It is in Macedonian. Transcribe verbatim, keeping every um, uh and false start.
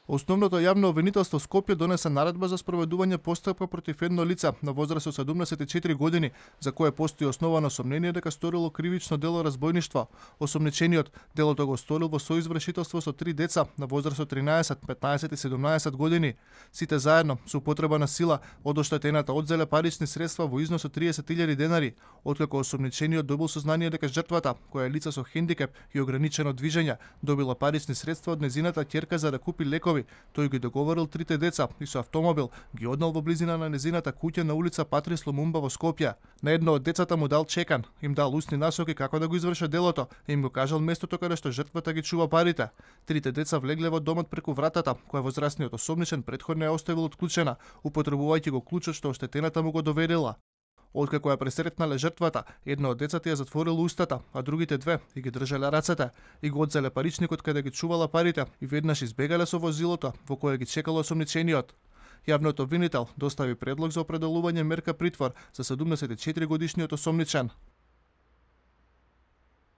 Основното јавно обвинителство Скопје донесе наредба за спроведување постапка против едно лице на возраст од седумдесет и четири години, за кое постои основано сомнение дека сторило кривично дело разбойништво. Осомничениот делото го сторил во соизвршителство со три деца на возраст од тринаесет, петнаесет и седумнаесет години. Сите заедно со употреба на сила од оштетената одзеле парични средства во износ од триесет илјади денари, откако осомничениот добил сознание дека жртвата, која е лице со хендикеп и ограничено движење, добила парични средства од незината ќерка за да купи лекови. Тој ги договорил трите деца и со автомобил ги однел во близина на незината куќа на улица Патрис Лумумба во Скопје. На едно од децата му дал чекан, им дал усни насоки како да го извршат делото и им го кажал местото каде што жртвата ги чува парите. Трите деца влегле во домот преку вратата, која возрастниот осомничен претходно ја оставил отклучена, употребувајќи го клучот што оштетената му го доверила. Откако ја пресретнале жртвата, едно од децата ја затворило устата, а другите две и ги држале рацете и го одзеле паричникот каде ги чувала парите и веднаш избегале со возилото во кое ги чекало осомничениот. Јавниот обвинител достави предлог за определување мерка притвор за седумдесет и четири годишниот осомничен.